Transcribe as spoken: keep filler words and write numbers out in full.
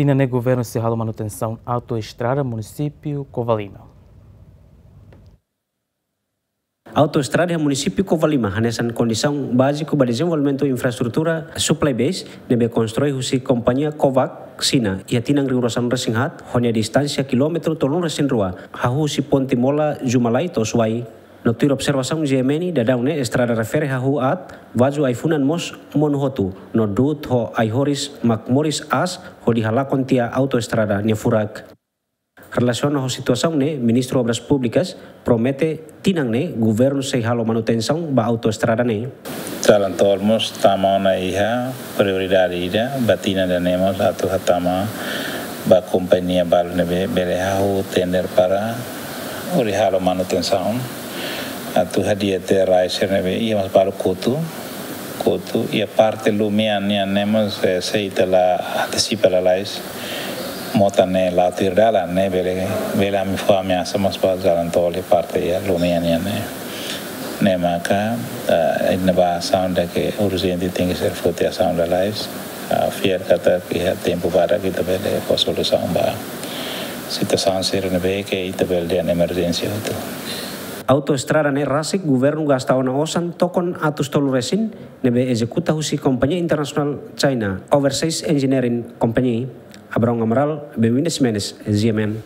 Tinan ne'e governu sei halo manutensaun autoestrada munisípiu Covalima. Autoestrada iha munisípiu Covalima hanesan kondisaun báziku ba dezenvolvimentu infraestrutura supply base ne'ebé konstrui husi kompañia Kovac Xina iha tinan rihun ruasaan resin haat, ho nia distánsia kilómetru tolunulu resin rua, hahú husi ponte mola Jumalai to'o Suai. No tuir observasaun G M N, daudaun ne'e estrada refere hahú aat, vaju ai-funan mós monu hotu, no du'ut ho ai-horis mak moris aas hodi halakon tiha autoestrada nia furak. Relasiona ho situasaun ne'e, Ministru Obras Públikas promete tinan ne'e governu sei halo manutensaun ba autoestrada ne'e. Jalan tol mós tama ona iha prioridade ida, ba tinan ida-ne'e mós atu hatama ba kompañia balu ne'ebé bele hahú tender para hodi halo manutensaun. Atu hadi'a tiha rai sira ne'ebé iha mós balu kotu, kotu, iha parte Lumian nian ne'e mós, eh, se ita la antesipa lalais, mota ne'e la'o tuir dalan ne'e bele, bele ami fó ameasa mós ba jalan tol iha parte iha Lumian nian ne'e. Ne'e maka, eh, iha ne'ebá asaun ida ke urjente tenke ser foti asaun lalais. Ah, fiar katak iha tempu badak ita bele fó solusaun ba situasaun sira ne'ebé ke ita bele dehan emerjénsia hotu. Autoestrada ne'e rasik governu gasta ona osan tokon atus tolu resin, ne'ebé ezekuta husi kompañia internasionál China Overseas Engineering Company. Abrão Amaral, Bewinda Ximenes, G M N.